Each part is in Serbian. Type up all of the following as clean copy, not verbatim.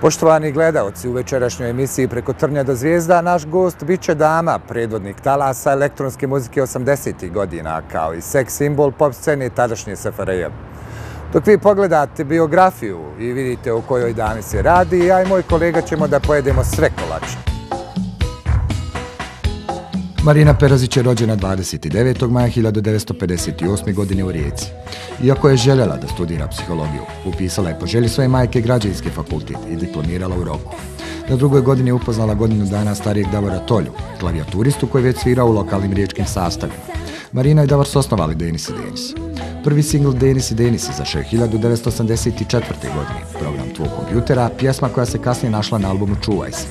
Poštovani gledaoci, u večerašnjoj emisiji Preko trnja do zvijezda naš gost biće dama, predvodnik talasa elektronske muzike 80. godina, kao i seks simbol pop scene tadašnje SFRJ. Dok vi pogledate biografiju i vidite o kojoj dami se radi, ja i moj kolega ćemo da pojedemo sve kolače. Marina Perazić je rođena 29. maja 1958. godine u Rijeci. Iako je željela da studira psihologiju, upisala je po želji svoje majke građevinski fakultet i diplomirala u roku. Na drugoj godini je upoznala godinu dana starijeg Davora Tolju, klavijaturistu koji već svirao u lokalnim riječkim sastavima. Marina i Davor su osnovali Denis i Denis. Prvi singl Denis i Denis izašao je 1984. godine, Program tvog kompjutera, pjesma koja se kasnije našla na albumu Čuvaj se.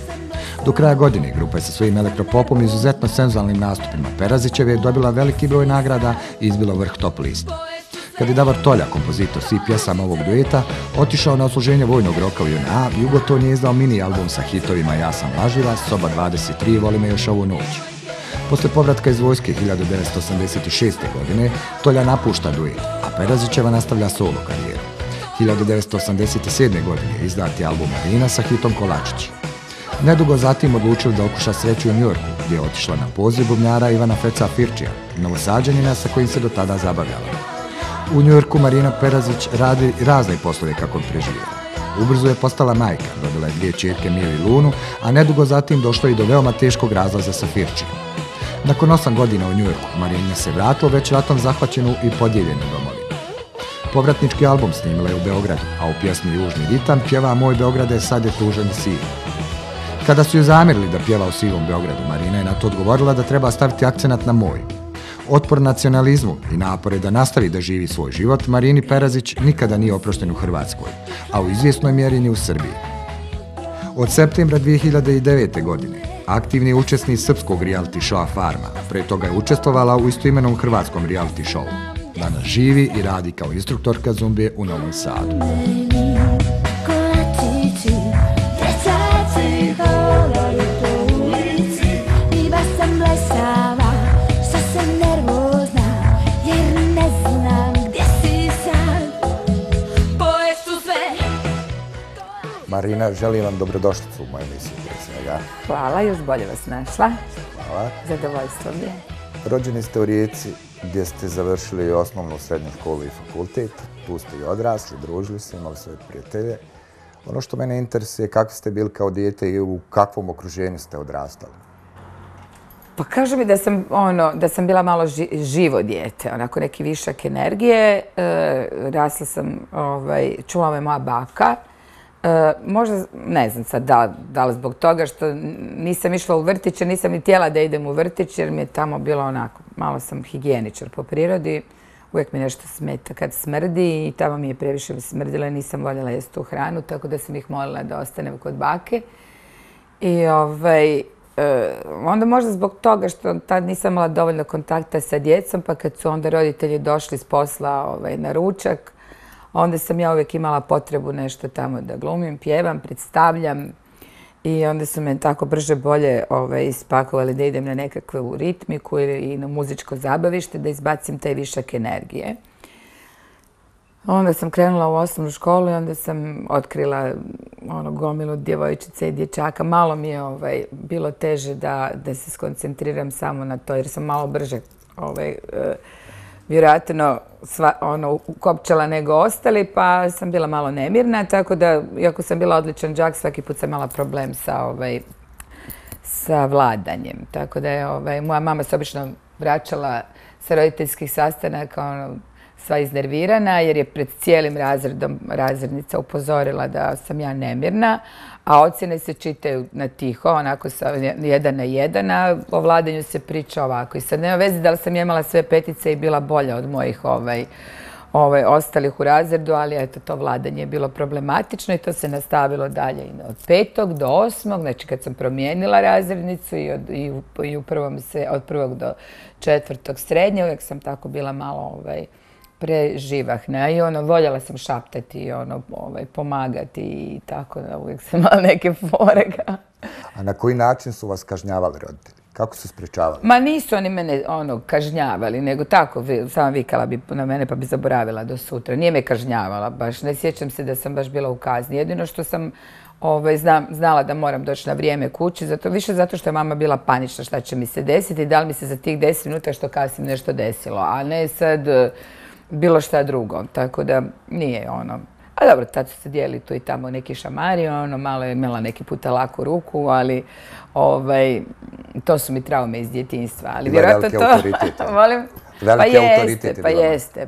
Do kraja godine grupa je sa svojim elektropopom i izuzetno senzualnim nastupima Perazićeve dobila veliki broj nagrada i izbila vrh top liste. Kad je Davor Tolja, kompozitor svih pjesama ovog dueta, otišao na odsluženje vojnog roka u JNA, Jugoton je izdao mini album sa hitovima Ja sam lažljiva, Soba 23, Voli me još ovu noć. Posle povratka iz vojske 1986. godine, Tolja napušta duet, a Perazićeva nastavlja solo karijeru. 1987. godine izdat je album Marina sa hitom Kolačić. Nedugo zatim odlučili da okuša sreću u Njujorku, gdje je otišla na poziv bubnjara Ivana Feca Firčija, novosađanina sa kojim se do tada zabavljala. U Njujorku Marina Perazić radi razne poslove kako bi preživjela. Ubrzo je postala majka, rodila je dvije ćerke Miju i Lunu, a nedugo zatim došlo i do veoma teškog razlaza sa Firčijom. Nakon 8 godina u Njujorku, Marina se vratila već ratom zahvaćenu i podijeljenu domovinu. Povratnički album snimila je u Beogradu, a u pjesmi Južni ritam pjeva Moj Beograde sad je tužan i siv. Kada su ju zamjerili da pjeva u sivom Beogradu, Marina je na to odgovorila da treba staviti akcenat na moj. Otpor nacionalizmu i napore da nastavi da živi svoj život, Marini Perazić nikada nije oprošten u Hrvatskoj, a u izvjesnoj mjeri ni u Srbiji. Od septembra 2009. godine aktivni učesnik srpskog reality showa Farma, pre toga je učestvovala u istoimenom hrvatskom reality showu. Danas živi i radi kao instruktorka zumbije u Novom Sadu. Marina, želim vam dobrodošlicu u moju emisiju. Hvala, još bolje vas našla. Hvala. Zadovoljstvo mi je. Rođeni ste u Rijeci, gdje ste završili osnovnu, srednju školu i fakultet. Tu ste i odrasli, družili se, imali svoje prijatelje. Ono što mene interesuje je kakvi ste bili kao dijete i u kakvom okruženju ste odrastali. Pa kažu mi da sam bila malo živo dijete, onako neki višak energije. Rasla sam, čula me moja baka. Možda, ne znam sad da li zbog toga što nisam išla u vrtić, jer nisam ni htjela da idem u vrtić, jer mi je tamo bilo onako, malo sam higijeničar po prirodi, uvijek mi nešto smeta kad smrdi i tamo mi je previše smrdilo i nisam voljela jesti tu hranu, tako da sam ih molila da ostanem kod bake. I onda možda zbog toga što tad nisam imala dovoljno kontakta sa djecom, pa kad su onda roditelji došli s posla na ručak, onda sam ja uvijek imala potrebu nešto tamo da glumim, pjevam, predstavljam i onda su me tako brže bolje ispakovali da idem na nekakvu ritmiku i na muzičko zabavište da izbacim taj višak energije. Onda sam krenula u osnovnu školu i onda sam otkrila gomilu djevojčica i dječaka. Malo mi je bilo teže da se skoncentriram samo na to jer sam malo brže vjerojatno ukopčala nego ostali, pa sam bila malo nemirna, tako da, iako sam bila odličan đak, svaki put sam imala problem sa vladanjem. Tako da je moja mama se obično vraćala sa roditeljskih sastanaka sva iznervirana, jer je pred cijelim razredom razrednica upozorila da sam ja nemirna, a ocjene se čitaju na tiho, onako sa 1 na 1, a o vladanju se priča ovako. I sad nema veze da li sam imala sve petice i bila bolja od mojih ostalih u razredu, ali eto, to vladanje je bilo problematično i to se nastavilo dalje od 5. do 8. Znači kad sam promijenila razrednicu i od 1. do 4. srednje, uvijek sam tako bila malo preživahna i voljela sam šaptati i pomagati i tako da uvijek sam imala neke fore. A na koji način su vas kažnjavali roditelji? Kako su sprečavali? Ma nisu oni mene kažnjavali, nego tako, sama vikala bi na mene pa bi zaboravila do sutra. Nije me kažnjavala baš, ne sjećam se da sam baš bila u kazni. Jedino što sam znala da moram doći na vrijeme kući, više zato što je mama bila panična šta će mi se desiti i da li mi se za tih 10 minuta što kasnim nešto desilo, a ne sad bilo šta drugo. Tako da nije A dobro, tad su se dijeli tu i tamo neki šamari, malo je imala neki puta laku ruku, ali to su mi traume iz djetinjstva. Ali vjerojatno to... Volim? Veliki autoritet.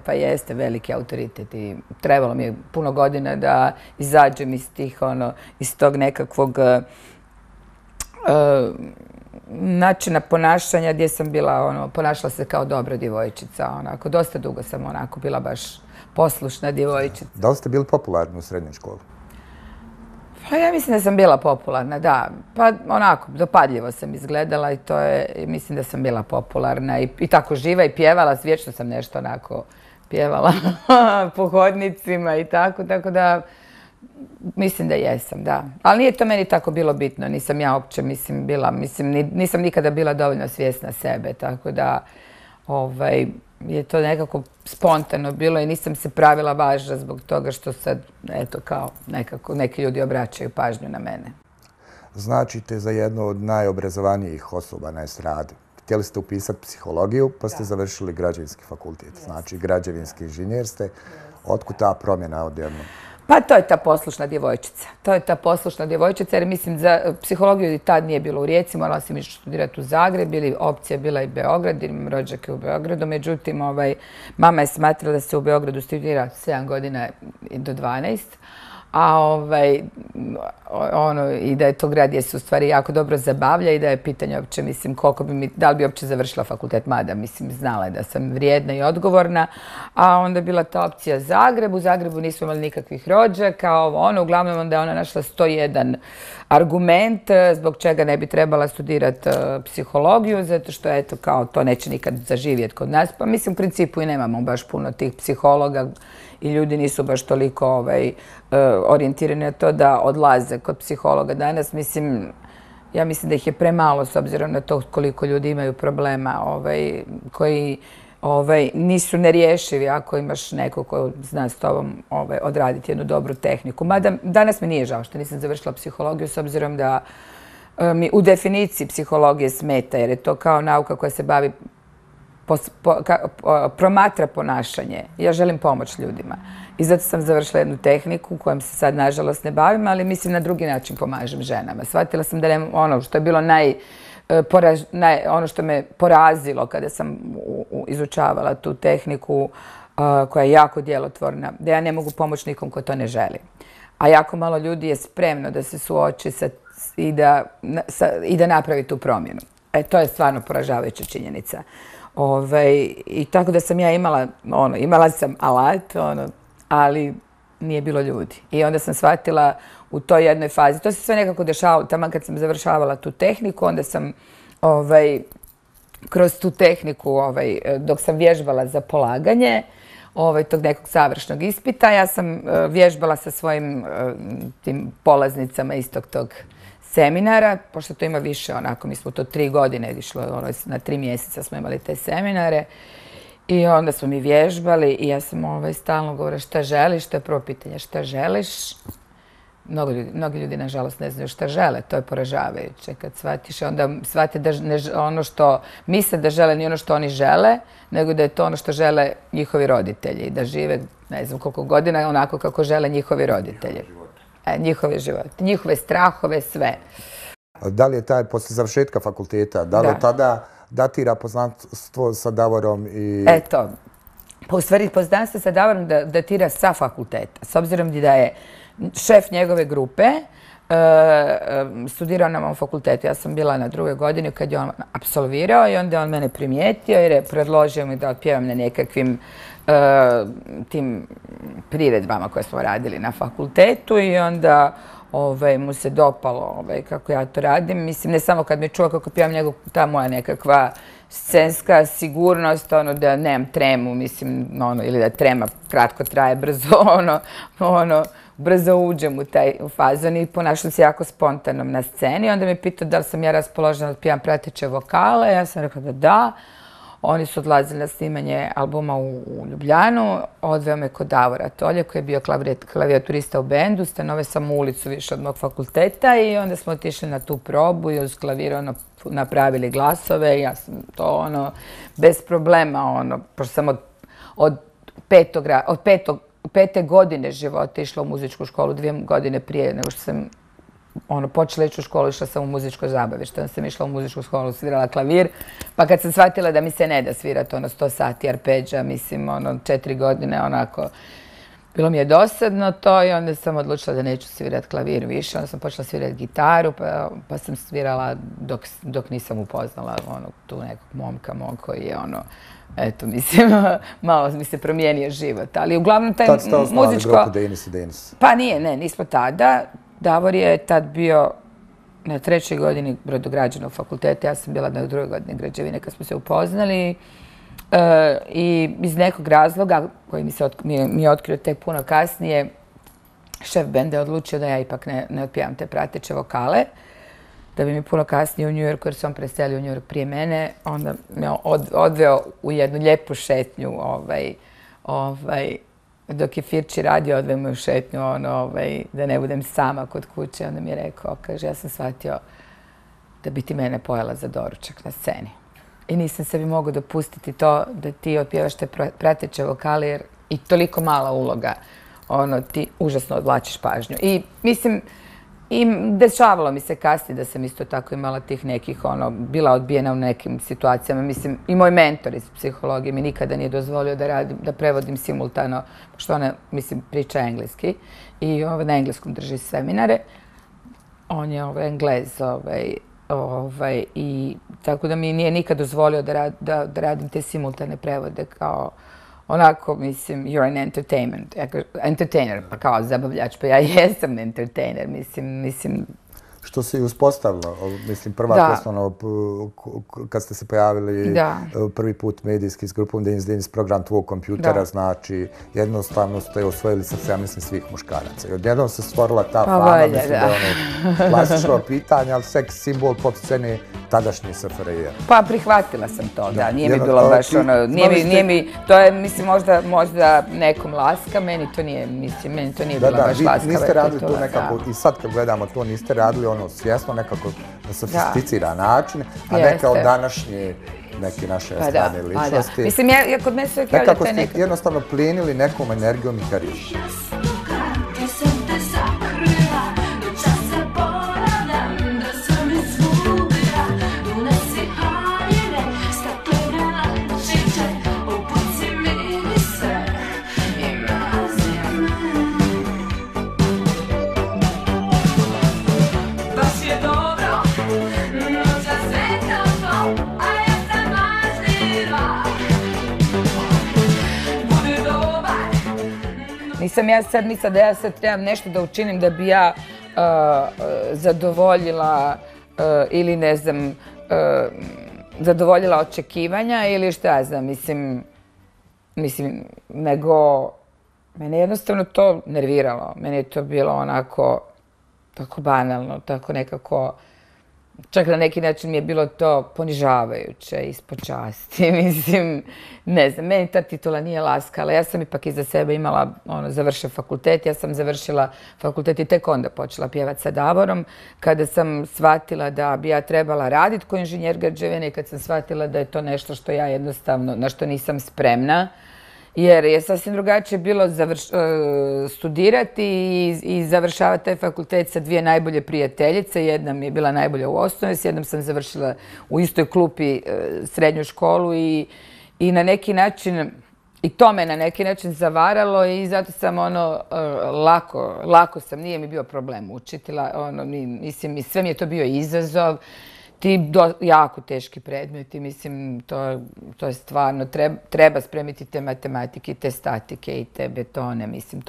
Pa jeste veliki autoritet i trebalo mi je puno godina da izađem iz tog nekakvog načina ponašanja gdje sam bila, ponašala se kao dobra djevojčica. Dosta dugo sam bila baš poslušna djevojčica. Da li ste bili popularni u srednjoj školi? Pa ja mislim da sam bila popularna, da. Pa dopadljivo sam izgledala i mislim da sam bila popularna i tako živa i pjevala, vječno sam nešto pjevala po hodnicima i tako da mislim da jesam, da. Ali nije to meni tako bilo bitno, nisam ja uopće, nisam nikada bila dovoljno svjesna sebe, tako da je to nekako spontano bilo i nisam se pravila važna zbog toga što sad, eto, kao nekako neki ljudi obraćaju pažnju na mene. Značite za jednu od najobrazovanijih osoba na estradi. Htjeli ste upisati psihologiju, pa ste završili građevinski fakultet. Znači, građevinski inženjer ste. Otkud ta promjena odjednom? Pa to je ta poslušna djevojčica. Jer mislim za psihologiju i tad nije bilo u Rijeci, morala sam ići studirati u Zagreb ili opcija bila i Beograd, jer imam rođake u Beogradu. Međutim, mama je smatrala da se u Beogradu studira 7 godina do 12, i da je to grad gdje se u stvari jako dobro zabavlja i da je pitanje uopće, mislim, da li bi uopće završila fakultet, mada, mislim, znala je da sam vrijedna i odgovorna, a onda je bila ta opcija Zagreb, u Zagrebu nismo imali nikakvih rođaka, uglavnom onda je ona našla 101 argument zbog čega ne bi trebala studirati psihologiju, zato što, eto, kao to neće nikad zaživjeti kod nas, pa mislim, u principu i nemamo baš puno tih psihologa i ljudi nisu baš toliko orijentirani na to da odlaze kod psihologa danas. Ja mislim da ih je premalo s obzirom na to koliko ljudi imaju problema koji nisu nerješivi ako imaš neko ko zna s tobom odraditi jednu dobru tehniku. Mada danas mi nije žao što nisam završila psihologiju s obzirom da mi u definiciji psihologije smeta jer je to kao nauka koja se bavi promatra ponašanje. Ja želim pomoć ljudima. I zato sam završila jednu tehniku kojom se sad nažalost ne bavim, ali mislim na drugi način pomažem ženama. Shvatila sam da ono što je bilo ono što me porazilo kada sam izučavala tu tehniku koja je jako djelotvorna, da ja ne mogu pomoći nikom ko to ne želi. A jako malo ljudi je spremno da se suoči i da napravi tu promjenu. To je stvarno poražavajuća činjenica. I tako da sam ja imala sam alat, ali nije bilo ljudi. I onda sam shvatila u toj jednoj fazi, to se sve nekako dešavalo, tamo kad sam završavala tu tehniku, onda sam kroz tu tehniku, dok sam vježbala za polaganje tog nekog završnog ispita, ja sam vježbala sa svojim tim polaznicama istog tog seminara, pošto to ima više, mi smo to 3 godine išlo, na 3 mjeseca smo imali te seminare i onda smo mi vježbali i ja sam stalno govorila šta želiš, to je prvo pitanje, šta želiš. Mnogi ljudi, nažalost, ne znaju šta žele, to je poražavajuće. Kad shvatiš, onda shvate da ono što misle da žele nije ono što oni žele, nego da je to ono što žele njihovi roditelji i da žive, ne znam koliko godina, onako kako žele njihovi roditelji. Njihove živote, njihove strahove, sve. Da li je taj, posle završetka fakulteta, da li je tada datira poznanstvo sa Davorom i... Eto, pa u stvari poznanstvo sa Davorom datira sa fakulteta. S obzirom da je šef njegove grupe studirao na mom fakultetu. Ja sam bila na 2. godini kad je on apsolvirao i onda je on mene primijetio jer je predložio mi da otpjevam na nekakvim tim priredbama koje smo radili na fakultetu i onda mu se dopalo kako ja to radim. Mislim, ne samo kad me čuo kako pjevam, nego ta moja nekakva scenska sigurnost, da nemam tremu, mislim, ili da trema kratko traje, brzo, brzo uđem u fazon i ponašam se jako spontanom na sceni. Onda me pitao da li sam ja raspoložena da otpivam prateće vokale. Ja sam rekla da da. Oni su odlazili na snimanje albuma u Ljubljanu. Odveo me kod Davora Tolje koji je bio klavijaturista u bendu. Stanove sam u ulicu više od mog fakulteta i onda smo otišli na tu probu i uz klavir napravili glasove. Ja sam to bez problema, pošto sam od pete godine života išla u muzičku školu 2 godine prije nego što sam počela ići u školu, išla sam u muzičko zabavište. Onda sam išla u muzičku školu, svirala klavir. Pa kad sam shvatila da mi se ne da svirati 100 sati arpeđa, mislim, 4 godine, onako, bilo mi je dosadno to i onda sam odlučila da neću svirati klavir više. Onda sam počela svirati gitaru, pa sam svirala dok nisam upoznala tu nekog momka mog koji je eto, mislim, malo mi se promijenio život. Ali uglavnom taj muzičko... Tad ste osnovali grupu Denis i Denis? Pa nije, nismo tada. Davor je tad bio na 3. godini brodograđevnog fakulteta, ja sam bila na 2. godini građevine kad smo se upoznali i iz nekog razloga koji mi je otkrio tek puno kasnije, šef benda je odlučio da ja ipak ne otpivam te prateće vokale, da bi mi puno kasnije u New Yorku, jer se on preselio u New York prije mene, onda me odveo u jednu lijepu šetnju, dok je Firči radio, odveo me u šetnju, da ne budem sama kod kuće. Onda mi je rekao, kaže, ja sam shvatio da bi ti mene pojela za doručak na sceni. I nisam sebi mogao dopustiti to da ti otpjevaš te prateće vokale, jer i toliko mala uloga, ti užasno odvlačiš pažnju. I mislim, i dešavalo mi se kasnije da sam isto tako imala tih nekih, bila odbijena u nekim situacijama. Mislim, i moj mentor iz psihologije mi nikada nije dozvolio da prevodim simultano, pošto ona, mislim, priča engleski i na engleskom drži seminare. On je Englez, i tako da mi nije nikad dozvolio da radim te simultane prevode kao onako, mislim, you're an entertainer, pa kao zabavljač, pa ja jesam entertainer, mislim... Što se i uspostavilo, mislim, prva pesma, kad ste se pojavili prvi put medijski s grupom Denis, program tvog kompjutera, znači, jednostavno ste osvojili srce, ja mislim, svih muškaraca. I odjednom se stvorila ta fama, mislim da je klasično pitanje, ali seks simbol pop scene tadašnje SFRJ. Pa prihvatila sam to, da, nije mi bilo baš nije mi, to je, mislim, možda nekom laska, meni to nije, mislim, meni to nije bilo baš laska. Da, vi niste radili to nekako, i sad kad gledamo to, niste radili svjesno nekako na sofisticiran način, a neka od današnje neke naše strane ličnosti. Mislim, ja kod mene sve kaže nekako ste jednostavno plenili nekom energijom i karijerom. Nisam ja sad mislila da ja sad trebam nešto da učinim da bi ja zadovoljila ili ne znam, zadovoljila očekivanja ili šta ja znam, mislim, nego mene jednostavno to nerviralo. Meni je to bilo onako, tako banalno, tako nekako, čak na neki način mi je bilo to ponižavajuće, ispod časti, mislim, ne znam, meni ta titula nije laskala. Ja sam ipak iza sebe imala, završio fakultet, ja sam završila fakultet i tek onda počela pjevati sa Davorom, kada sam shvatila da bi ja trebala raditi kao inženjer građevine i kad sam shvatila da je to nešto što ja jednostavno, na što nisam spremna, jer je sasvim drugačije bilo studirati i završavati taj fakultet sa 2 najbolje prijateljice. Jedna mi je bila najbolja u osnovi, s jednom sam završila u istoj klupi srednju školu i na neki način, i to me na neki način zavaralo i zato sam lako sam, nije mi bio problem učiti, mislim, sve mi je to bio izazov. Ti jako teški predmeti, mislim, to je stvarno, treba spremiti te matematike, te statike i te betone, mislim,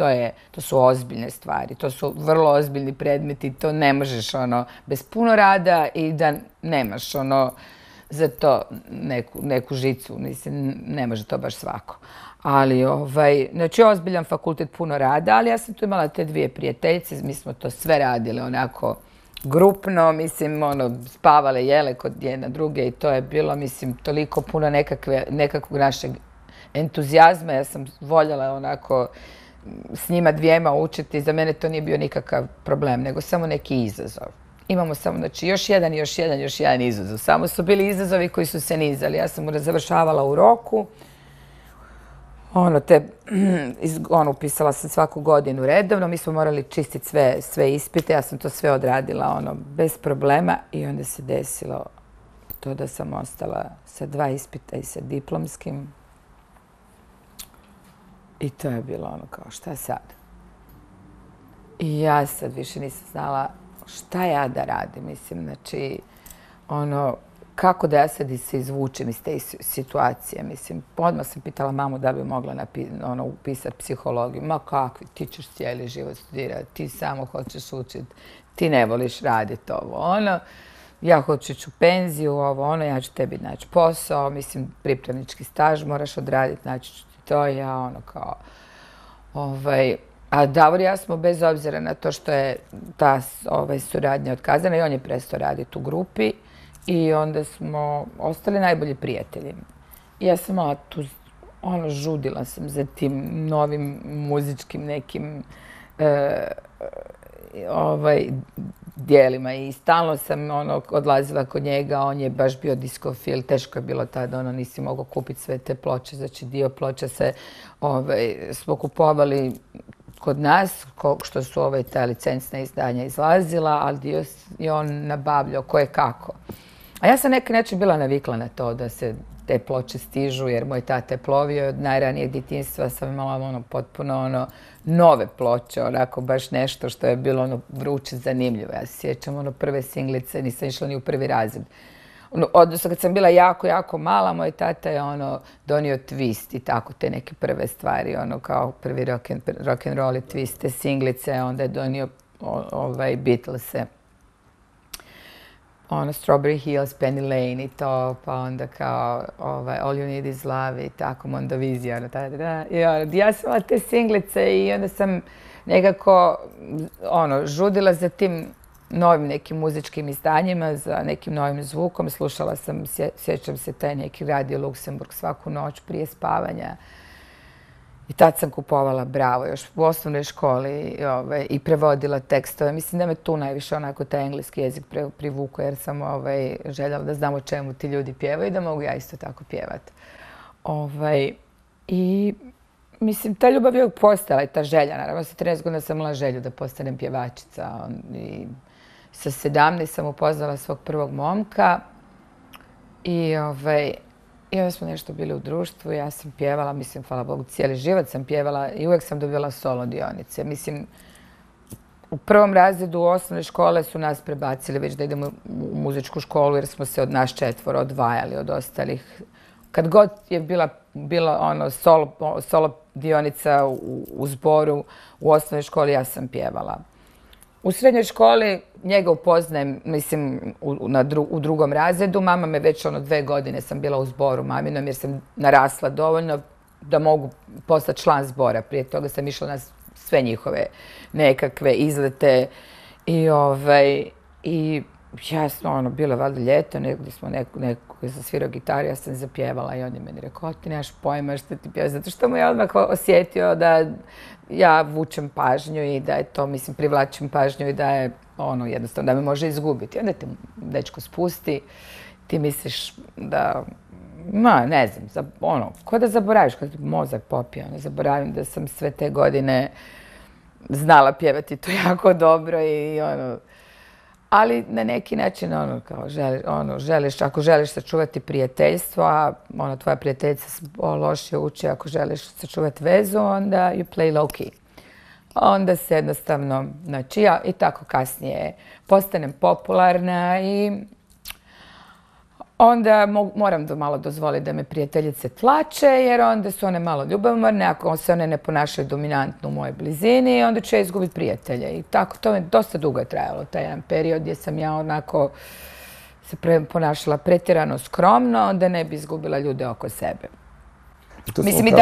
to su ozbiljne stvari, to su vrlo ozbiljni predmeti, to ne možeš, bez puno rada i da nemaš, za to neku žicu. Mislim, ne može to baš svako. Ali, znači, ozbiljan fakultet, puno rada, ali ja sam tu imala te dvije prijateljice, mi smo to sve radile onako grupno, mislim, spavale, jele kod jedna druge i to je bilo, mislim, toliko puno nekakvog našeg entuzijazma. Ja sam voljela onako s njima dvijema učiti, za mene to nije bio nikakav problem, nego samo neki izazov. Imamo samo, znači, još jedan izazov. Samo su bili izazovi koji su se nizali. Ja sam završavala u roku. Upisala sam svaku godinu redovno. Mi smo morali čistiti sve ispite. Ja sam to sve odradila, bez problema. I onda se desilo to da sam ostala sa 2 ispita i sa diplomskim. I to je bilo kao, šta sad? I ja sad više nisam znala šta ja da radim, mislim, znači, kako da ja sad se izvučem iz te situacije, mislim, odmah sam pitala mamu da bi mogla upisati psihologiju. Ma kakvi, ti ćeš cijeli život studirati, ti samo hoćeš učiti, ti ne voliš raditi ovo, ja hoću ići u penziju, ja ću tebi naći posao, mislim, pripravnički staž moraš odraditi, znači ću ti to, ja kao, a Davor i ja smo, bez obzira na to što je ta suradnja otkazana, i on je prestao raditi u grupi i onda smo ostali najbolji prijatelji. I ja sam malo tu, žudila sam za tim novim muzičkim nekim dijelima i stalno sam odlazila kod njega, on je baš bio diskofil, teško je bilo tada, nisi mogao kupiti sve te ploče, znači dio ploča smo kupovali kod nas, što su ta licencna izdanja izlazila, ali dio je on nabavljao koje kako. A ja sam neki način bila navikla na to da se te ploče stižu, jer moj tata je plovio od najranijeg djetinjstva, sam imala potpuno nove ploče, onako baš nešto što je bilo vruće, zanimljivo. Ja se sjećam prve singlice, nisam išla ni u prvi razred. Odnosno, kad sam bila jako, jako mala, moj tata je donio Twist i tako te neke prve stvari, kao prvi rock and roll i Twist, te singlice, onda je donio Beatlese. Strawberry Hills, Penny Lane i to, pa onda kao All You Need Is Love i tako, Mondovizija. I ja sam imala te singlice i onda sam nekako žudila za tim novim nekim muzičkim izdanjima, za nekim novim zvukom. Slušala sam, sjećam se, taj neki Radio Luksemburg svaku noć prije spavanja. I tad sam kupovala Bravo još u osnovnoj školi i prevodila tekstove. Mislim da me tu najviše onako taj engleski jezik privukao, jer sam željela da znam o čemu ti ljudi pjevaju i da mogu ja isto tako pjevati. I mislim, ta ljubav je uvijek postojala i ta želja. Naravno, sa 13 godina sam imala želju da postanem pjevačica. I sa 17 sam upoznala svog prvog momka i onda smo nešto bili u društvu, ja sam pjevala, mislim, hvala Bogu, cijeli život sam pjevala i uvijek sam dobila solo dionice. Mislim, u prvom razredu osnovne škole su nas prebacili već da idemo u muzičku školu jer smo se od nas 4 odvajali od ostalih. Kad god je bila solo dionica u zboru u osnovnoj školi, ja sam pjevala. U srednjoj školi njega upoznajem, mislim, u drugom razredu. Mama me već 2 godine sam bila u zboru maminom jer sam narasla dovoljno da mogu postati član zbora. Prije toga sam išla na sve njihove nekakve izlete i jasno, bilo valjda ljeto, negdje smo neko je zasvirao gitaru, ja sam zapjevala i on je meni rekao, ti nemaš pojma što ti pjevaš, zato što mu je odmah osjetio da ja vučem pažnju i da je to, mislim, privlačim pažnju i da je jednostavno da me može izgubiti. Onda te dečko spusti, ti misliš da, ne znam, ko da zaboraviš, kad mozak popije, zaboravim da sam sve te godine znala pjevati to jako dobro i ali na neki način, želiš, ako želiš sačuvati prijateljstvo, a tvoja prijateljica lošije uči, ako želiš sačuvati vezu, onda you play low key. Onda se jednostavno, znači ja i tako kasnije postanem popularna i onda moram malo dozvoliti da me prijateljice tlače, jer onda su one malo ljubomorne, ako se one ne ponašaju dominantno u mojoj blizini, onda ću ja izgubiti prijatelje. I tako, to je dosta dugo trajalo, taj jedan period gdje sam ja onako se ponašala pretjerano skromno, da ne bi izgubila ljude oko sebe. Mislim, i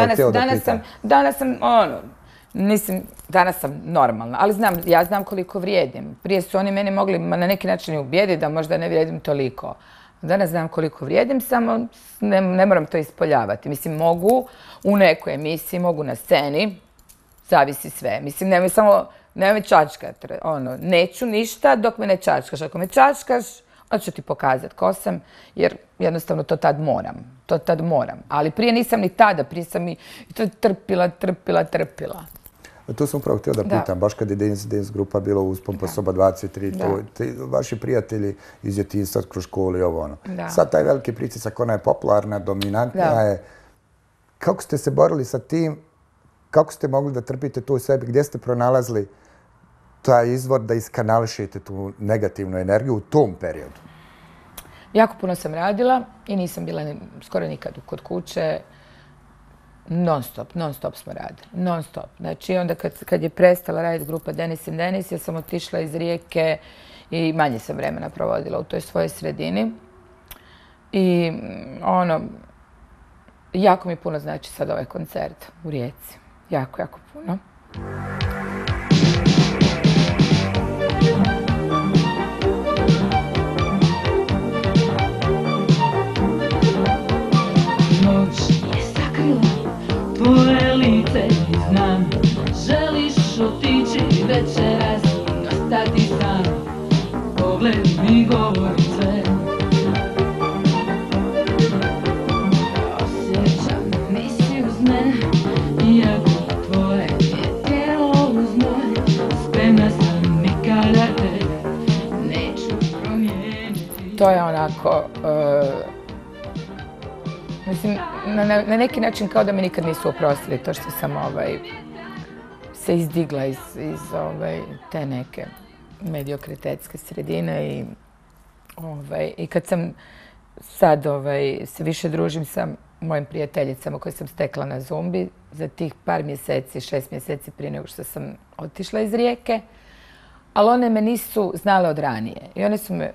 danas sam normalna, ali ja znam koliko vrijedim. Prije su oni mene mogli na neki način ubijediti da možda ne vrijedim toliko. Danas znam koliko vrijedim, samo ne moram to ispoljavati. Mislim, mogu u nekoj emisiji, mogu na sceni, zavisi sve. Mislim, nemoj čačkat. Neću ništa dok me ne čačkaš. Ako me čačkaš, onda ću ti pokazati ko sam, jer jednostavno to tad moram. Ali prije nisam ni tada, prije sam i to trpila. Tu sam upravo htio da pitam, baš kad je Dance grupa bila u Uspon pa soba 23, vaši prijatelji iz djetinjstva kroz školu i ovo ono. Sad taj veliki pritisak, ona je popularna, dominantna je. Kako ste se borili sa tim? Kako ste mogli da trpite to u sebi? Gdje ste pronalazili taj izvor da iskanališete tu negativnu energiju u tom periodu? Jako puno sam radila i nisam bila skoro nikad kod kuće. Non stop smo radili. Non stop. Znači, onda kad je prestala raditi grupa Denis and Denis, ja sam otišla iz Rijeke i manje sam vremena provodila u toj svojoj sredini. I jako mi puno znači sad ovaj koncert u Rijeci. Jako, jako puno. Tvoje lice znam, želiš otići večeras, ostati sam, pogled mi govori sve. Osjećam, nisi uz mene, iako tvoje je tijelo uz moje, spremna sam nikada te neću promijeniti. To je onako... Mislim, na neki način kao da mi nikad nisu oprostili to što sam se izdigla iz te neke mediokritetske sredine i kad sam sad se više družim sa mojim prijateljicama koje sam stekla na Zumbi za tih par mjeseci, 6 mjeseci prije nego što sam otišla iz Rijeke, ali one me nisu znale od ranije. I one su me,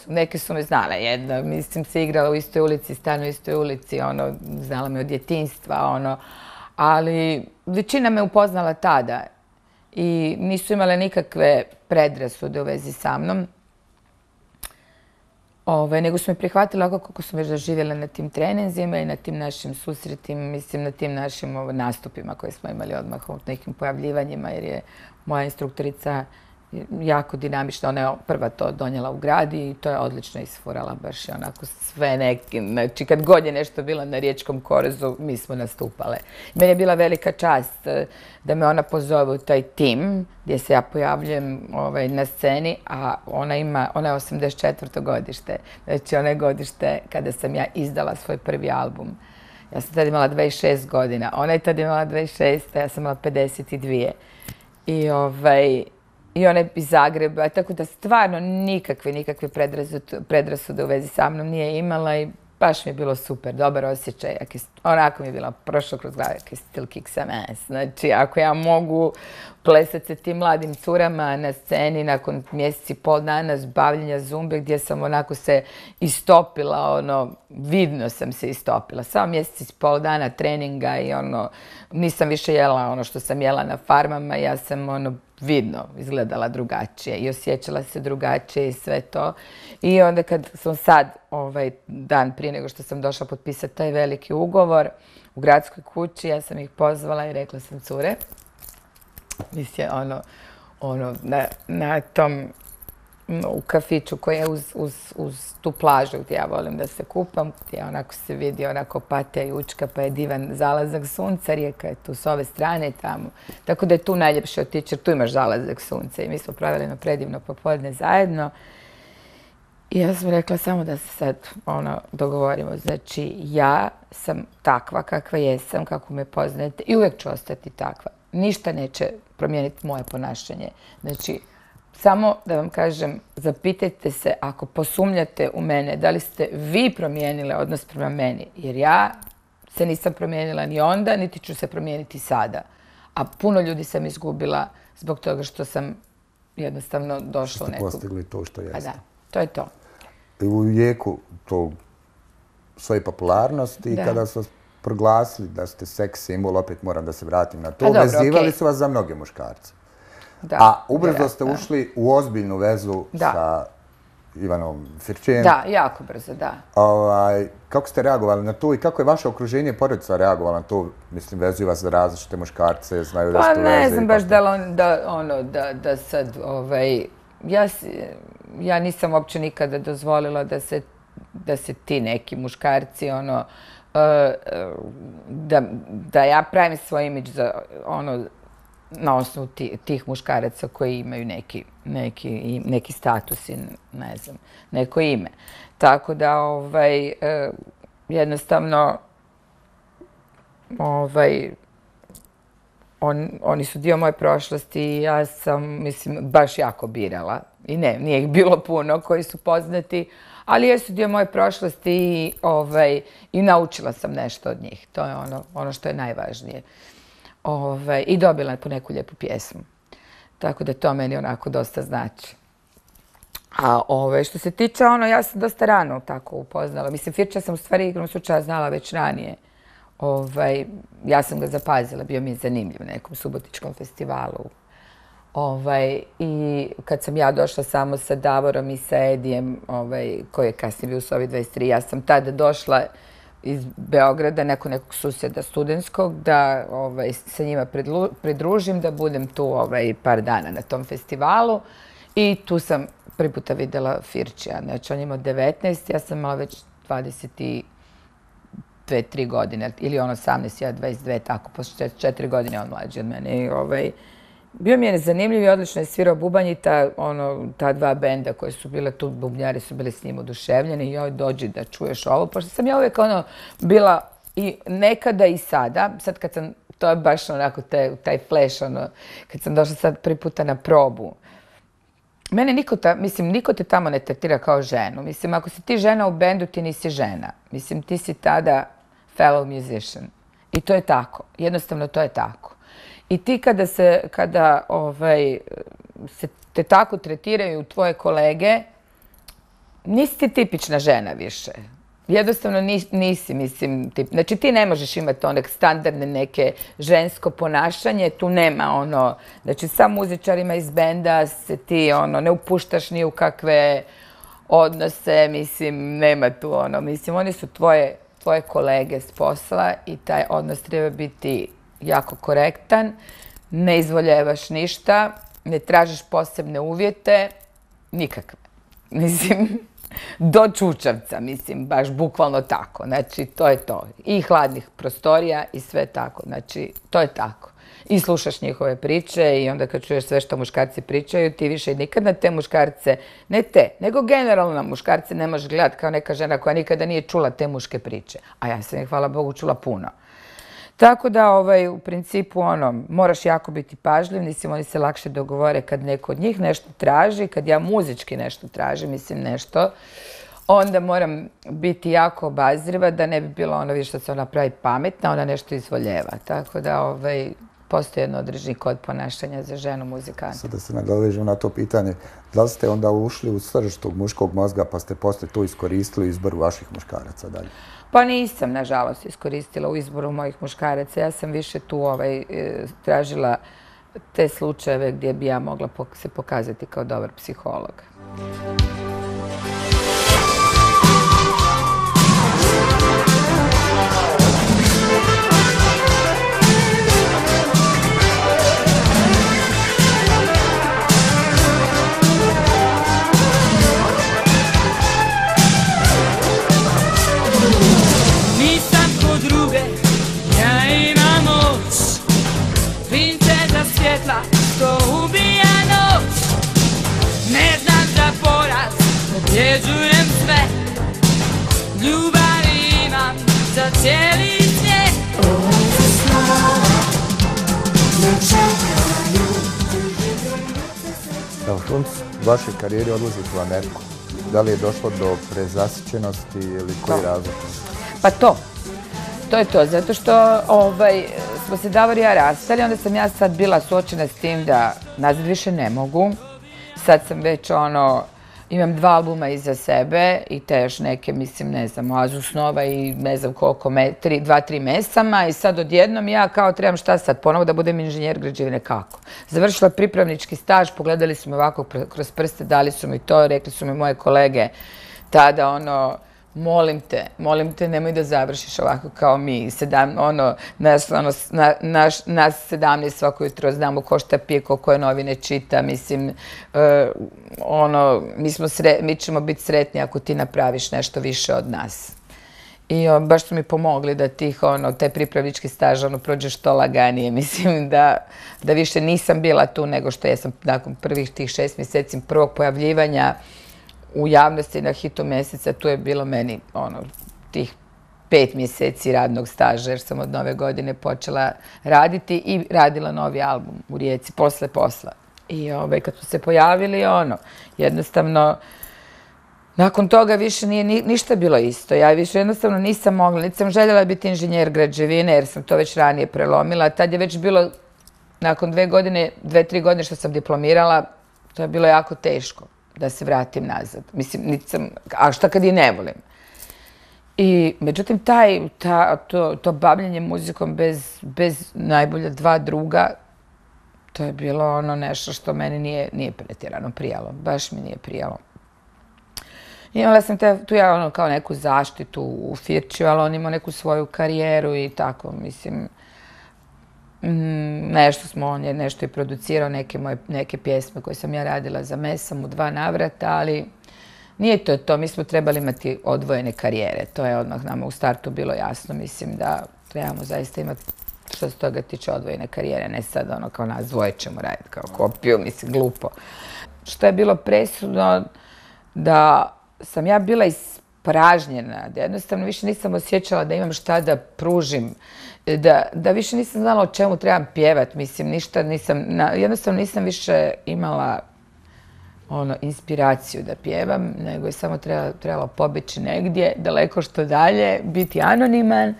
neke su me znale. Jedna, mislim, se igrala u istoj ulici, stanu u istoj ulici, znala me od djetinjstva, ali većina me upoznala tada i nisu imale nikakve predrasude u vezi sa mnom. Nego su me prihvatili ovako kako su već doživjela na tim treninzima i na tim našim susretima, mislim, na tim našim nastupima koje smo imali odmah u nekim pojavljivanjima, jer je moja instruktorica jako dinamična. Ona je prva to donijela u grad i to je odlično isfurala, baš je onako sve neki. Znači, kad god je nešto bilo na Riječkom korezu, mi smo nastupale. Meni je bila velika čast da me ona pozove u taj tim gdje se ja pojavljujem na sceni, a ona je 84. godište. Znači, ona je godište kada sam ja izdala svoj prvi album. Ja sam tada imala 26 godina. Ona je tada imala 26, a ja sam imala 52. I ona je iz Zagreba, tako da stvarno nikakve predrasude u vezi sa mnom nije imala i baš mi je bilo super, dobar osjećaj. Onako mi je bilo prošlo kroz glavu, I still kick some ass. Znači, ako ja mogu plesati sa tim mladim curama na sceni nakon mjeseci i pol dana bavljenja Zumbe, gdje sam onako se istopila, vidno sam se istopila. Samo mjeseci i pol dana treninga i nisam više jela ono što sam jela na farmama, ja sam vidno izgledala drugačije i osjećala se drugačije i sve to. I onda kad sam sad, dan prije nego što sam došla potpisati taj veliki ugovor u gradskoj kući, ja sam ih pozvala i rekla sam, cure, mislim, na tom, u kafiću koji je uz tu plažu gdje ja volim da se kupam, gdje onako se vidi onako Opatija i Učka, pa je divan zalazak sunca, Rijeka je tu s ove strane tamo. Tako da je tu najljepše otići jer tu imaš zalazak sunca i mi smo pravili jedno predivno popodne zajedno. I ja sam rekla samo da se sad dogovorimo. Znači, ja sam takva kakva jesam, kako me poznajete i uvijek ću ostati takva. Ništa neće promijeniti moje ponašanje. Znači, samo da vam kažem, zapitajte se ako posumnjate u mene, da li ste vi promijenile odnos prema meni, jer ja se nisam promijenila ni onda, niti ću se promijeniti sada. A puno ljudi sam izgubila zbog toga što sam jednostavno došla u neku... Što ste postigli to što jeste. Pa da, to je to. u jeku tog svoje popularnosti i kada su vas proglasili da ste seks simbol, opet moram da se vratim na to, vezivali su vas za mnoge muškarce. A ubrzo ste ušli u ozbiljnu vezu sa Ivanom Firčijem. Da, jako brzo, da. Kako ste reagovali na to i kako je vaše okruženje i porodica reagovala na to? Mislim, vezuju vas za različite muškarce, znaju da ste u vezi. Pa ne znam baš da sad, ja nisam uopće nikada dozvolila da se ti neki muškarci, da ja pravim svoj imidž za, na osnovu tih muškaraca koji imaju neki status i ne znam, neko ime. Tako da, jednostavno, oni su dio moje prošlosti i ja sam, mislim, baš jako birala. I ne, nije ih bilo puno koji su poznati, ali jesu dio moje prošlosti i naučila sam nešto od njih. To je ono što je najvažnije. I dobila po neku lijepu pjesmu. Tako da to meni onako dosta znači. A što se tiče ja sam dosta rano tako upoznala. Mislim, Firča sam u stvari igrom slučaja znala već ranije. Ja sam ga zapazila, bio mi je zanimljiv na nekom subotičkom festivalu. I kad sam ja došla samo sa Davorom i sa Edijem, koji je kasnije bio u Sovi 23, ja sam tada došla iz Beograda, nekog susjeda studentskog, da se njima pridružim, da budem tu par dana na tom festivalu. I tu sam prvi puta videla Firčija. Znači, on je imao 19, ja sam imala već 22-3 godine, ili 18, ja 22, tako, posle 4 godine on mlađi od mene. Bio mi je zanimljiv i odlično je svirao bubanj i ta dva benda koje su bile tu, bubnjari su bili s njim oduševljeni i joj, dođi da čuješ ovo, pošto sam ja uvijek bila i nekada i sada, sad kad sam, to je baš onako taj flash, kad sam došla sad prvi puta na probu, mene niko te tamo ne tretira kao ženu. Mislim, ako si ti žena u bendu, ti nisi žena. Mislim, ti si tada fellow musician. I to je tako. Jednostavno, to je tako. I ti kada se te tako tretiraju tvoje kolege, nisi ti tipična žena više. Jednostavno nisi, mislim, znači ti ne možeš imati onak standardne neke žensko ponašanje, tu nema znači sa muzičarima iz benda se ti ne upuštaš ni u kakve odnose, mislim, nema tu mislim, oni su tvoje kolege s posla i taj odnos treba biti jako korektan, ne izvoljevaš ništa, ne tražiš posebne uvjete, nikakve. Mislim, do čučavca, mislim, baš bukvalno tako. Znači, to je to. I hladnih prostorija i sve tako. Znači, to je tako. I slušaš njihove priče i onda kad čuješ sve što muškarci pričaju, ti više nikad na te muškarce, ne te, nego generalno na muškarce ne možeš gledati kao neka žena koja nikada nije čula te muške priče. A ja sam ih, hvala Bogu, čula puno. Tako da, u principu, moraš jako biti pažljiv, mislim, oni se lakše dogovore kad neko od njih nešto traži, kad ja muzički nešto tražim, mislim, nešto, onda moram biti jako obazriva da ne bi bilo više što se ona pravi pametna, ona nešto izvoljeva. Tako da, postoji jedno određeni kod ponašanja za ženu muzikanta. Sada se nadovežem na to pitanje, da li ste onda ušli u srž tog muškog mozga pa ste posle to iskoristili u izboru vaših muškaraca dalje? Pa nisam, nažalost, iskoristila u izboru mojih muškaraca. Ja sam više tu tražila te slučajeve gdje bi ja mogla se pokazati kao dobar psiholog. Što ubija noć, ne znam za poraz, pobjeđujem sve, ljubavi imam za cijeli svijet. Evo, Šunc, u vašoj karijeri odlazite u Ameriku. Da li je došlo do prezasićenosti ili koji razlog? Pa to je to, zato što smo se Davor i ja rastali, onda sam ja sad bila suočena s tim da nazad više ne mogu. Sad sam već Imam 2 albuma iza sebe i te još neke, mislim, ne znam, Oazu snova i ne znam koliko, 2-3 mesama i sad odjednom ja kao trebam šta sad, ponovo da budem inženjer građevine, kako? Završila pripravnički staž, pogledali su me ovako kroz prste, dali su mi to, rekli su mi moje kolege tada, ono, molim te, nemoj da završiš ovako kao mi. Nas 17 svako jutro znamo ko šta pije, ko koje novine čita. Mislim, mi ćemo biti sretni ako ti napraviš nešto više od nas. I baš su mi pomogli da taj pripravnički staž prođe što laganije. Mislim da više nisam bila tu nego što jesam nakon prvih tih 6 mjeseci prvog pojavljivanja u javnosti na hitu mjeseca. Tu je bilo meni tih 5 mjeseci radnog staža jer sam od nove godine počela raditi i radila novi album u Rijeci posle posla. I kad su se pojavili, jednostavno, nakon toga više nije ništa bilo isto. Ja više jednostavno nisam mogla, niti sam željela biti inženjer građevine jer sam to već ranije prelomila. Tad je već bilo, nakon 2-3 godine što sam diplomirala, to je bilo jako teško da se vratim nazad. Mislim, a šta kad i ne volim? I, međutim, to bavljenje muzikom bez najbolje 2 druga, to je bilo nešto što meni nije pretjerano prijalo. Baš mi nije prijalo. Imala sam tu ja kao neku zaštitu u Firčiju, ali on imao neku svoju karijeru i tako, mislim, on je nešto i producirao, neke pjesme koje sam ja radila za Mesam u 2 navrata, ali nije to, mi smo trebali imati odvojene karijere, to je odmah nama u startu bilo jasno, mislim da trebamo zaista imati što se toga tiče odvojene karijere, ne sad kao nas dvoje ćemo raditi kao kopiju, mislim, glupo. Što je bilo presudno da sam ja bila ispražnjena, da jednostavno više nisam osjećala da imam šta da pružim, da više nisam znala o čemu trebam pjevati, mislim, ništa nisam, jednostavno nisam više imala inspiraciju da pjevam, nego je samo trebalo pobeći negdje, daleko što dalje, biti anoniman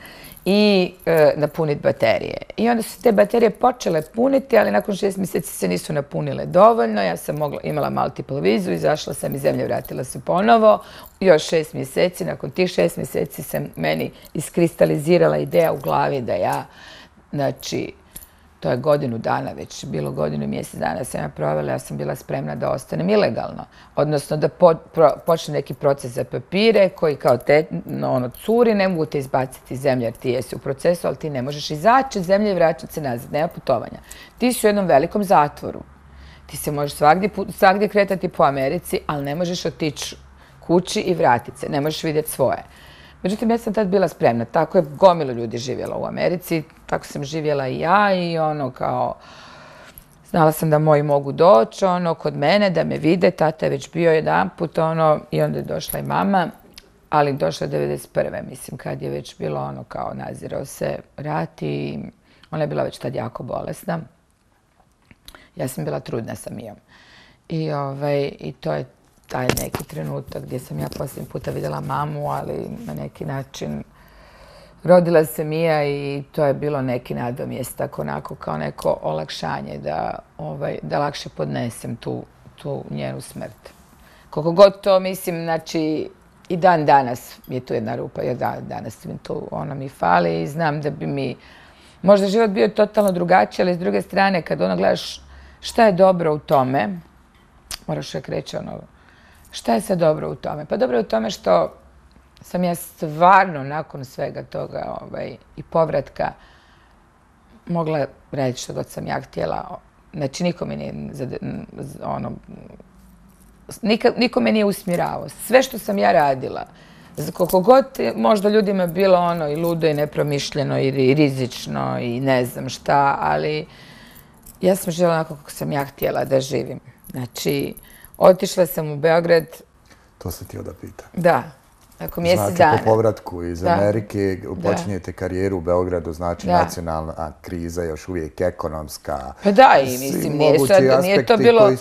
i napuniti baterije. I onda su te baterije počele puniti, ali nakon 6 mjeseci se nisu napunile dovoljno. Ja sam imala multiple vizu, izašla sam iz zemlje, vratila se ponovo. Još 6 mjeseci, nakon tih 6 mjeseci se meni iskristalizirala ideja u glavi da ja, znači, to je godinu dana već, bilo godinu i mjesec dana sam ja provela, ja sam bila spremna da ostanem ilegalno. Odnosno da počne neki proces za papire koji kao curi, ne mogu te izbaciti iz zemlje jer ti jesi u procesu, ali ti ne možeš izaći iz zemlje i vraćati se nazad, nema putovanja. Ti si u jednom velikom zatvoru. Ti se možeš svagdje kretati po Americi, ali ne možeš otići kući i vratiti se, ne možeš vidjeti svoje. Međutim, ja sam tad bila spremna. Tako je gomilo ljudi živjela u Americi, tako sam živjela i ja i znala sam da moji mogu doći kod mene, da me vide, tata je već bio jedanput i onda je došla i mama, ali došla je 1991. Mislim, kad je već bilo kao nazirao se rat i ona je bila već tad jako bolesna. Ja sam bila trudna sa Mijom. I to je taj neki trenutak gdje sam ja posljednji puta vidjela mamu, ali na neki način rodila se Mija i to je bilo neki nadomjestak, onako kao neko olakšanje da lakše podnesem tu njenu smrt. Koliko god to mislim, znači i dan danas mi je tu jedna rupa, jer danas mi tu mi fali i znam da bi mi možda život bio totalno drugačiji, ali s druge strane kad gledaš šta je dobro u tome, moraš uvijek reći šta je sad dobro u tome? Pa dobro je u tome što sam ja stvarno nakon svega toga i povratka mogla raditi što god sam ja htjela. Znači, niko me nije usmjeravao. Sve što sam ja radila, koliko god možda ljudima bilo i ludo i nepromišljeno i rizično i ne znam šta, ali ja sam željela onako kako sam ja htjela da živim. Znači, otišla sam u Beograd. To sam htio da pitam. Da, nakon mjesec dana. Znači, po povratku iz Amerike počinjete karijeru u Beogradu, znači nacionalna kriza, još uvijek ekonomska. Pa da, i mislim, nije to bilo...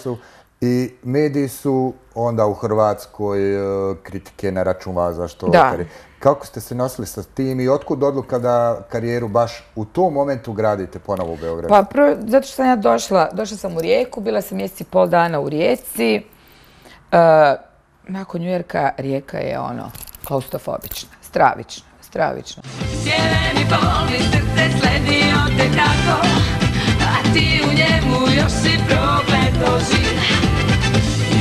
I mediji su onda u Hrvatskoj kritike na račun vas zašto... Kako ste se nosili sa tim i otkud odluka da karijeru baš u tom momentu gradite ponovo u Beogradu? Pa prvo, zato što sam ja došla sam u Rijeku, bila sam mjesec i pol dana u Rijeci nakon Njujorka Rijeka je klaustrofobična, stravična. Sjeveni boli srce sledio te tako, a ti u njemu još si prokleto živ.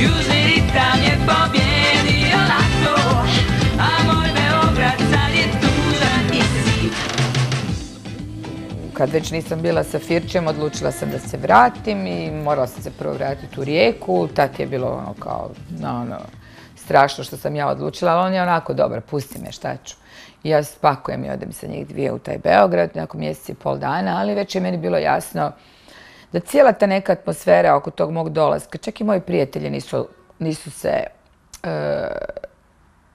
Južni ritam je pobjedio lato, a moj Beograd sad je tužan i siv. Kad već nisam bila sa Firčem, odlučila sam da se vratim i morala sam se prvo vratiti u Rijeku. Tad je bilo strašno što sam ja odlučila, ali on je onako dobar, pusti me, šta ću. I ja spakujem i odem sa njih dvije u taj Beograd, nakon mjeseci i pol dana, ali već je meni bilo jasno da cijela ta neka atmosfera oko tog mog dolaska, čak i moji prijatelji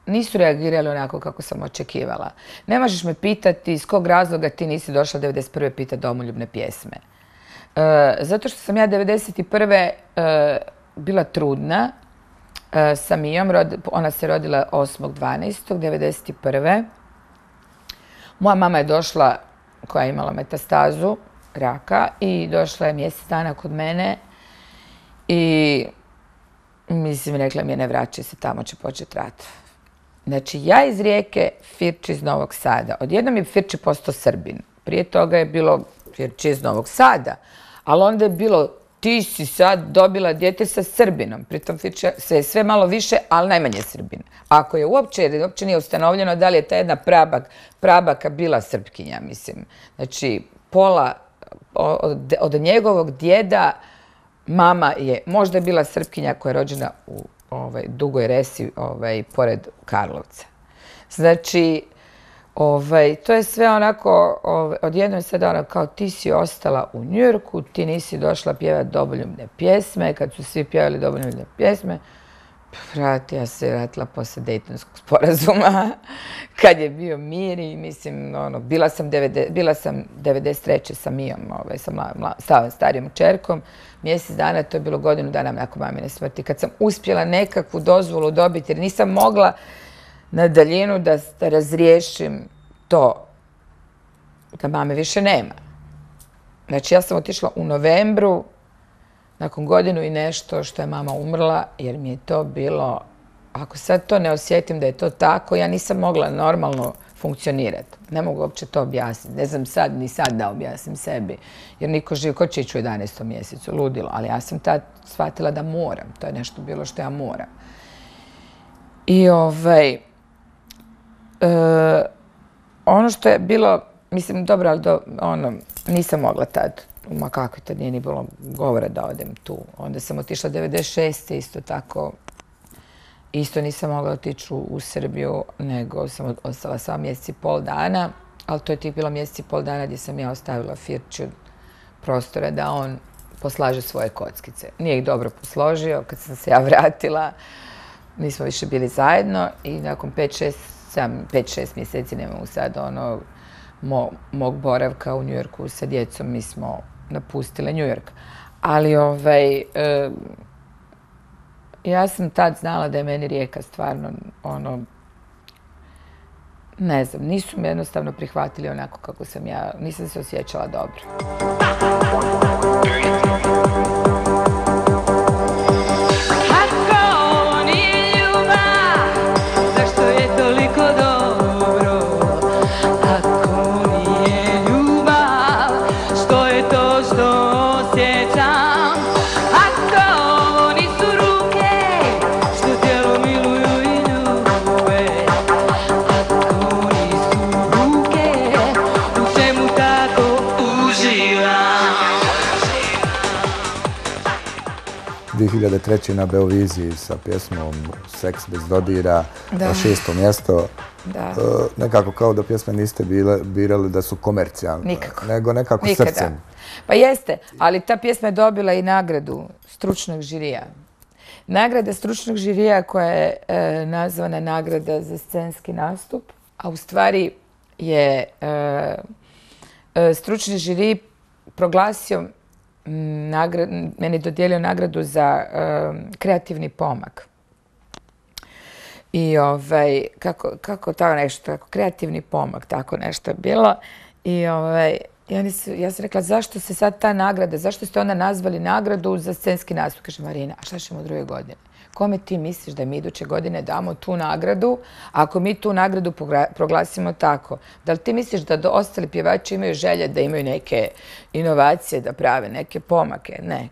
nisu reagirali onako kako sam očekivala. Ne možeš me pitati iz kog razloga ti nisi došla 91. pitati domoljubne pjesme. Zato što sam ja 91. bila trudna sa Mijom, ona se rodila 8.12.91. Moja mama je došla, koja je imala metastazu raka, i došla je mjesec dana kod mene i mislim, rekla mi je ne vraćaj se, tamo će početi rat. Znači, ja iz Rijeke, Firči iz Novog Sada. Odjednom je Firči postao Srbin. Prije toga je bilo Firči iz Novog Sada, ali onda je bilo ti si sad dobila dijete sa Srbinom. Pritom Firči se je sve malo više, ali najmanje Srbin. Ako je uopće nije ustanovljeno da li je ta jedna prabaka bila Srpkinja, mislim. Znači, pola od njegovog djeda mama je možda bila Srpkinja koja je rođena u Dugoj Resi, pored Karlovca. Znači, to je sve onako, odjednom je sada kao ti si ostala u Njujorku, ti nisi došla pjevati domoljubne pjesme, kad su svi pjevali domoljubne pjesme, ja se vratila posle Dejtonskog sporazuma, kad je bio mir i mislim, bila sam 93. sa Mijom, sa starijom čerkom, mjesec dana, to je bilo godinu dana nakon mamine smrti, kad sam uspjela nekakvu dozvolu dobiti, jer nisam mogla na daljinu da razriješim to, da mame više nema. Znači, ja sam otišla u novembru, nakon godinu i nešto što je mama umrla, jer mi je to bilo, ako sad to ne osjetim da je to tako, ja nisam mogla normalno funkcionirati. Ne mogu uopće to objasniti. Ne znam ni sad da objasnim sebi. Jer niko živ, ko će ići u 11. mjesecu, ludilo. Ali ja sam tad shvatila da moram. To je nešto bilo što ja moram. I ono što je bilo, mislim, dobro, ali nisam mogla tad. Ma kako tad nije ni bilo govora da odem tu. Onda sam otišla 96. isto tako. Isto nisam mogla otići u Srbiju, nego sam ostala samo mjesec i pol dana. Ali to je tih bilo mjesec i pol dana gdje sam ja ostavila Firču prostora da on poslaže svoje kockice. Nije ih dobro posložio. Kad sam se ja vratila, nismo više bili zajedno i nakon 5-6 mjeseci, ne mogu sad, mog boravka u Njujorku sa djecom, mi smo napustile Njujork. Ali ja sam tad znala da je meni Rijeka stvarno, ne znam, nisu me jednostavno prihvatili onako kako sam ja, nisam se osjećala dobro. na Beoviziji sa pjesmom Seks bez dodira, 6. mjesto. Nekako kao da pjesme niste birali da su komercijalne, nego nekako srcem. Pa jeste, ali ta pjesma je dobila i nagradu stručnog žirija. Nagrada stručnog žirija koja je nazvana nagrada za scenski nastup, a u stvari je stručni žiri proglasio meni dodijelio nagradu za kreativni pomak. I kako tako nešto, kreativni pomak, tako nešto je bilo. I ja sam rekla, zašto se sad ta nagrada, zašto ste onda nazvali nagradu za scenski nastup? Kaže, Marina, a šta ćemo u druge godine? kome ti misliš da mi iduće godine damo tu nagradu, ako mi tu nagradu proglasimo tako? Da li ti misliš da ostali pjevači imaju želje da imaju neke inovacije, da prave neke pomake? Ne,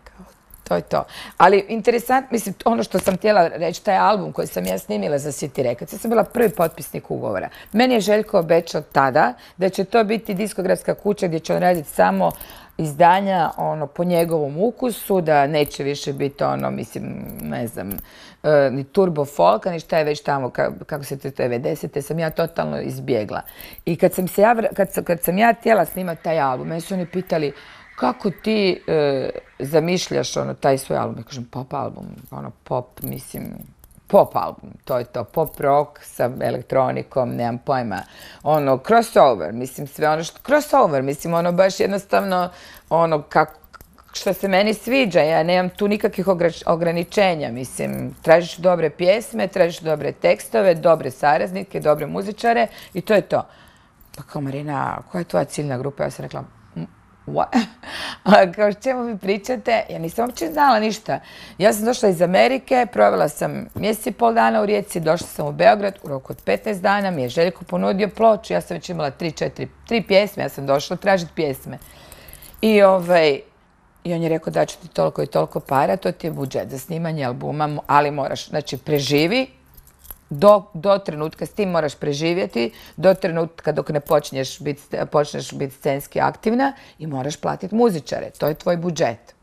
to je to. Ali interesantno, mislim, ono što sam htjela reći, taj album koji sam ja snimila za City Records, ja sam bila prvi potpisnik ugovora. Meni je Željko obećao tada da će to biti diskografska kuća gdje će on raditi samo izdanja po njegovom ukusu, da neće više biti mislim, ne znam, ni turbo folka, ni šta je već tamo, kako se to 90-te, sam ja totalno izbjegla. I kad sam ja htjela snimati taj album, meni su oni pitali kako ti zamišljaš taj svoj album? Ja kažem, pop album, pop, mislim, pop album, to je to, pop rock sa elektronikom, nemam pojma, crossover, mislim, sve crossover, mislim, baš jednostavno, što se meni sviđa, ja nemam tu nikakvih ograničenja, mislim, tražiš dobre pjesme, tražiš dobre tekstove, dobre saradnike, dobre muzičare i to je to. Pa kao, Marina, koja je tvoja ciljna grupa? Ja sam rekla, kao o čemu vi pričate? Ja nisam uopće znala ništa. Ja sam došla iz Amerike, provela sam mjesec i pol dana u Rijeci, došla sam u Beograd, u roku od 15 dana mi je Željko ponudio ploču, ja sam već imala 3 pjesme, ja sam došla tražiti pjesme. I on je rekao da ću ti toliko i toliko para, to ti je budžet za snimanje albuma, ali moraš, znači, preživi, do trenutka, s tim moraš preživjeti, do trenutka dok ne počneš biti scenski aktivna i moraš platiti muzičare. To je tvoj budžet.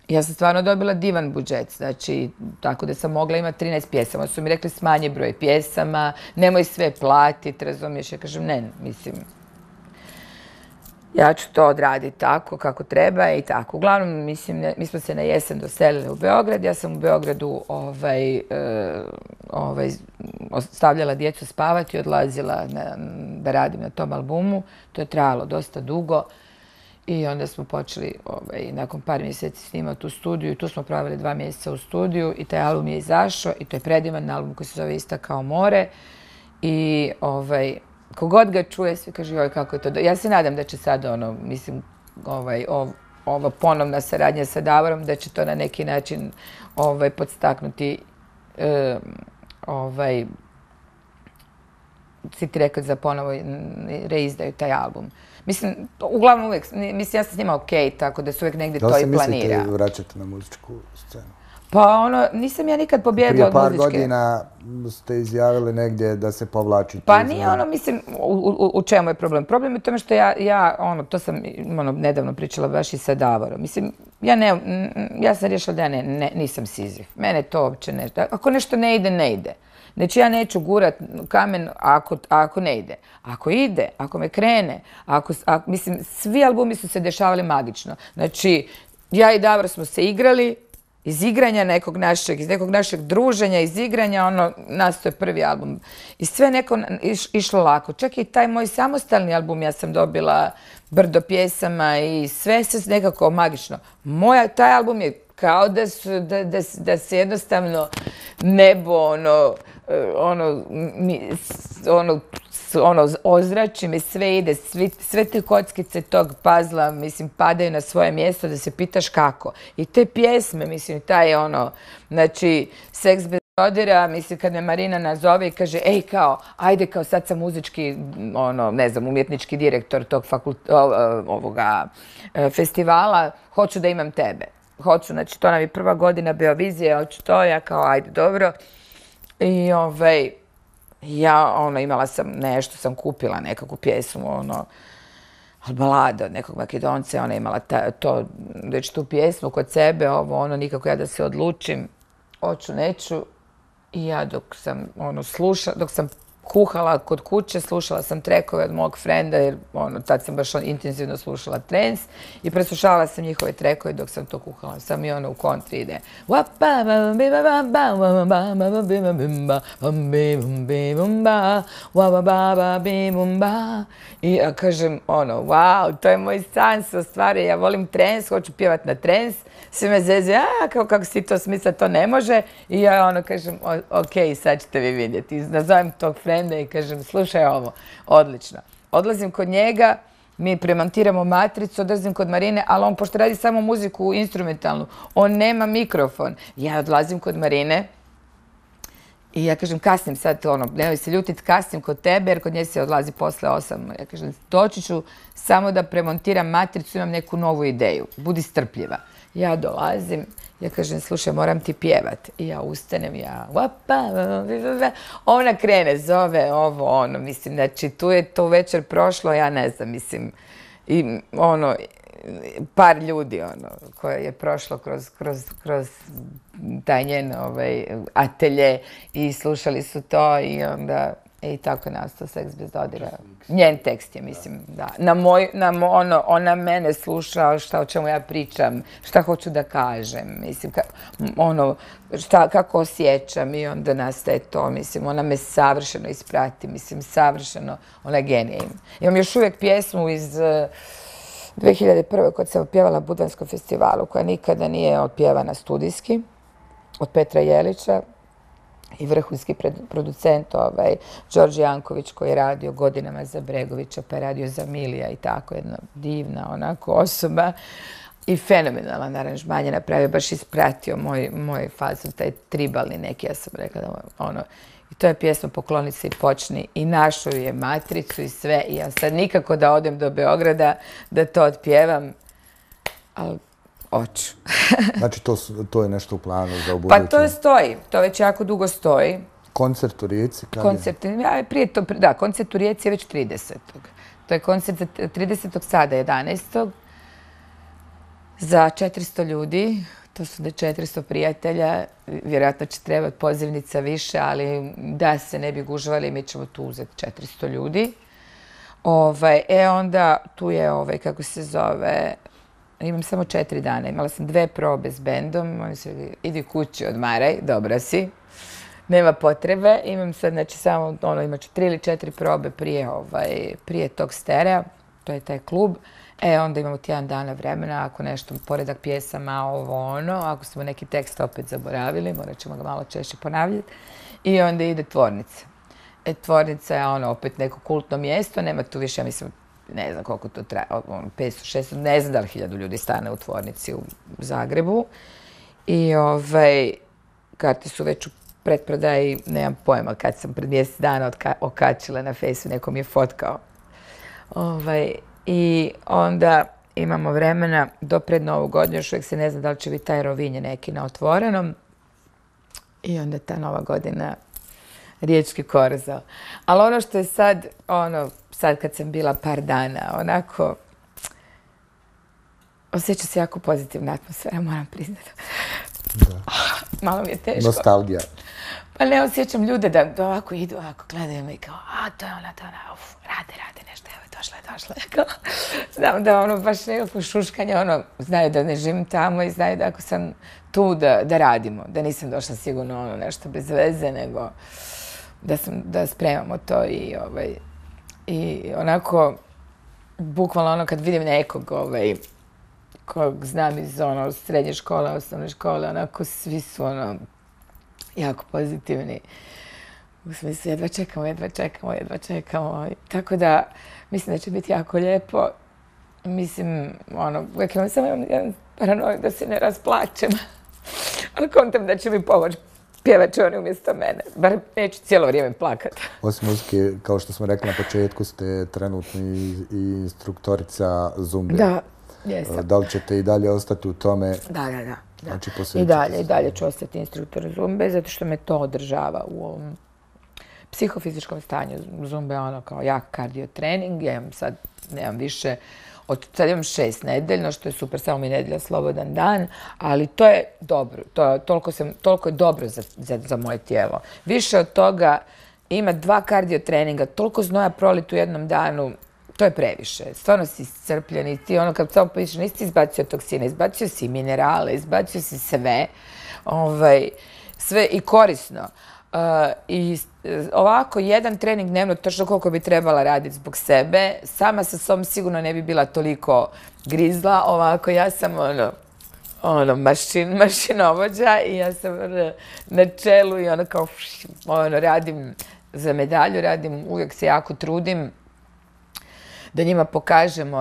Ja sam stvarno dobila divan budžet, znači, tako da sam mogla imati 13 pjesama. Su mi rekli smanji broj pjesama, nemoj sve platiti, razumiješ? Ja kažem, ne, mislim, ja ću to odraditi tako kako treba i tako. Uglavnom, mislim, mi smo se na jesen doselili u Beograd. Ja sam u Beogradu ostavljala djecu spavati i odlazila da radim na tom albumu. To je trajalo dosta dugo i onda smo počeli nakon par mjeseci snimati u studiju i tu smo proveli 2 mjeseca u studiju i taj album je izašao i to je predivan album koji se zove Ista kao more i kogod ga čuje, svi kaže, joj, kako je to. Ja se nadam da će sad, mislim, ova ponovna saradnja sa Davorom, da će to na neki način podstaknuti City Records za ponovo reizdaju taj album. Mislim, uglavnom uvijek, mislim, ja sam s njima okej, tako da se uvijek negdje to i planira. Da li se mislite vraćati na muzičku scenu? Pa nisam ja nikad pobjedila od muzičke. Prije par godina ste izjavili negdje da se povlačite. Pa nije mislim, u čemu je problem? Problem je u tome što to sam nedavno pričala baš i sa Davorom. Mislim, ja sam riješila da ja nisam Sizif. Mene to uopće ne... Ako nešto ne ide, ne ide. Znači, ja neću gurat kamen ako ne ide. Ako ide, ako me krene, mislim, svi albumi su se dešavali magično. Znači, ja i Davor smo se igrali, iz igranja iz nekog našeg druženja, iz igranja, nastao je prvi album. I sve neko išlo lako. Čak i taj moj samostalni album, ja sam dobila brdo pjesama i sve se nekako magično. Taj album je kao da se jednostavno nebo, ozrači me, sve ide, sve te kockice tog pazla, mislim, padaju na svoje mjesto da se pitaš kako. I te pjesme, mislim, taj znači, Seks bez dodira, mislim, kad me Marina nazove i kaže, ej, kao, ajde, kao, sad sam muzički, ne znam, umjetnički direktor tog festivala, hoću da imam tebe. Hoću, znači, to nam je prva godina Beovizije, hoću to, ja kao, ajde, dobro. I ja, imala sam nešto, sam kupila nekakvu pjesmu, balada od nekog Makedonca, ona imala već tu pjesmu kod sebe, nikako ja da se odlučim, hoću, neću. I ja dok sam kuhala kod kuće, slušala sam trekove od mog frenda, jer tad sam baš intenzivno slušala trance i preslušavala sam njihove trekove dok sam to kuhala. Sam i u kontri ide. I ja kažem, wow, to je moj san, se ostvari, ja volim trance, hoću pjevat na trance. Svi me zeze, kako si to smisla, to ne može. I ja kažem, okej, sad ćete vi vidjeti. Nazovem tog frenda i kažem, slušaj ovo, odlično. Odlazim kod njega, mi premontiramo matricu, odlazim kod Marine, ali on, pošto radi samo muziku instrumentalnu, on nema mikrofon. Ja odlazim kod Marine i ja kažem, kasnim sad, nemoj se ljutit, kasnim kod tebe, jer kod nje se odlazi posle 8. Ja kažem, doći ću samo da premontiram matricu, imam neku novu ideju, budi strpljiva. Ja dolazim, ja kažem, slušaj, moram ti pjevat. I ja ustanem, ona krene, zove ovo, mislim, znači, tu je to večer prošlo, ja ne znam, mislim, i par ljudi, koje je prošlo kroz taj njen atelje i slušali su to i onda i tako je nastao Seks bez dodira. Njen tekst je, mislim, da. Ona mene sluša o čemu ja pričam, šta hoću da kažem, mislim, kako osjećam i onda nastaje to, mislim, ona me savršeno isprati, mislim, savršeno, ona je genija. Imam još uvijek pjesmu iz 2001. kad sam pjevala na Budanskom festivalu, koja nikada nije otpjevana studijski, od Petra Jelića, i vrhunski producent Đorđe Janković, koji je radio godinama za Bregovića, pa je radio za Milija i tako, jedna divna onako osoba i fenomenalan aranžman je napravio, baš ispratio moj fazon, taj tribalni neki, ja sam rekla da i to je pjesma Pokloni se i počni i našao je matricu i sve i ja sad nikako da odem do Beograda da to otpjevam, ali hoću. Znači, to je nešto u planu za ubuduće? Pa to stoji. To već jako dugo stoji. Koncert u Rijeci? Da, koncert u Rijeci je već 30. To je koncert 30. sada, 11. za 400 ljudi. To su 400 prijatelja. Vjerojatno će trebati pozivnica više, ali da se ne bi gužvali, mi ćemo tu uzeti 400 ljudi. Onda tu je, kako se zove, imam samo 4 dana. Imala sam 2 probe s bendom. Oni su rekli, idi kući, odmaraj, dobra si. Nema potrebe. Imam sad, znači, samo, imat ću 3 ili 4 probe prije tog sterea. To je taj klub. Onda imamo tjedan dana vremena, ako nešto, poredak pjesama, ako smo neki tekst opet zaboravili, morat ćemo ga malo češće ponavljati. I onda ide Tvornica. Tvornica je opet neko kultno mjesto, nema tu više, ja mislim, ne znam koliko to traje, 500, 600, ne znam da li 1000 ljudi stane u Tvornici u Zagrebu. I karte su već u pretprodaji, nemam pojma, kad sam pred mjesec dana okačila na Fejsu, neko mi je fotkao. I onda imamo vremena do pred Novu godinu, još uvijek se ne zna da li će biti taj Rovinje neki na otvorenom. I onda ta Nova godina, Riječki korzo. Ali ono što je sad, sad kad sam bila par dana, onako, osjeća se jako pozitivna atmosfera, moram priznati. Malo mi je teško. Nostalgija. Pa ne osjećam ljude da ovako idu, ovako gledaju me i kao, to je ona, rade nešto, evo, došla je. Znam da baš nekako šuškanje, znaju da ne živim tamo i znaju da ako sam tu da radimo, da nisam došla sigurno nešto bez veze, nego da spremamo to i onako, bukvalno kad vidim nekog kog znam iz srednje škole, osnovne škole, onako svi su jako pozitivni. U smislu, jedva čekamo. Tako da, mislim da će biti jako lijepo. Mislim, uvijek imam samo jedan paranoj da se ne rasplačem. Ali kontam da će mi pomoći pjevače oni umjesto mene. Bar neću cijelo vrijeme plakati. Osim muzike, kao što smo rekli na početku, ste trenutno i instruktorica zumbe. Da, jesam. Da li ćete i dalje ostati u tome? Da. Znači, I dalje ću ostati instruktor zumbe, zato što me to održava u ovom psihofizičkom stanju. Zumba je kao jak kardio trening. Ja imam sad, nemam više, sad imam 6 nedeljno, što je super, samo mi je nedelja slobodan dan, ali to je dobro. Toliko je dobro za moje tijelo. Više od toga ima 2 kardio treninga, toliko znoja prolit u jednom danu, to je previše. Stvarno si iscrpljen i ti kad samo pišeš, nisi ti izbacio toksine, izbacio si minerale, izbacio si sve, sve i korisno. I ovako, jedan trening dnevno, točno koliko bi trebala raditi zbog sebe, sama sa sobom sigurno ne bi bila toliko grizla, ovako ja sam mašinovođa i ja sam na čelu i kao radim za medalju, uvijek se jako trudim da njima pokažem,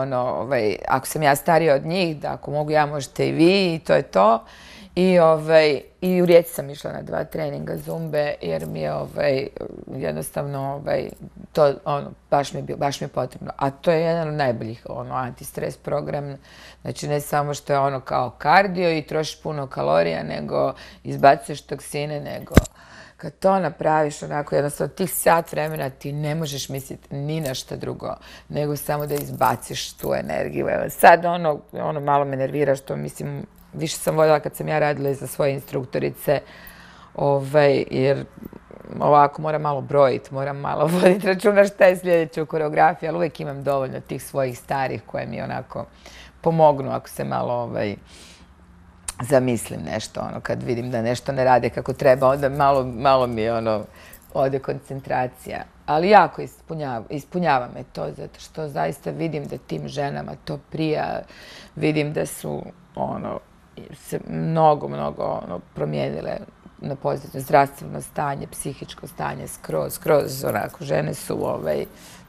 ako sam ja starija od njih, da ako mogu ja, možete i vi, i to je to. I u Rijeci sam išla na 2 treninga zumbe, jer mi je jednostavno to baš mi je potrebno. A to je jedan od najboljih antistres program. Znači ne samo što je kao kardio i trošiš puno kalorija, nego izbacuješ toksine, nego kad to napraviš onako jednostavno tih sat vremena ti ne možeš misliti ni na šta drugo, nego samo da izbaciš tu energiju. Sad malo me nervira što mislim, više sam voljela kad sam ja radila za svoje instruktorice, jer ovako moram malo brojiti, moram malo voditi računa šta je sljedeće u koreografiji, ali uvijek imam dovoljno tih svojih starih koje mi onako pomognu ako se malo zamislim nešto, kad vidim da nešto ne rade kako treba, onda malo mi ode koncentracija. Ali jako ispunjava me to, zato što zaista vidim da tim ženama to prija, vidim da su se mnogo promijenile na pozitivno zdravstveno stanje, psihičko stanje, skroz onako, žene su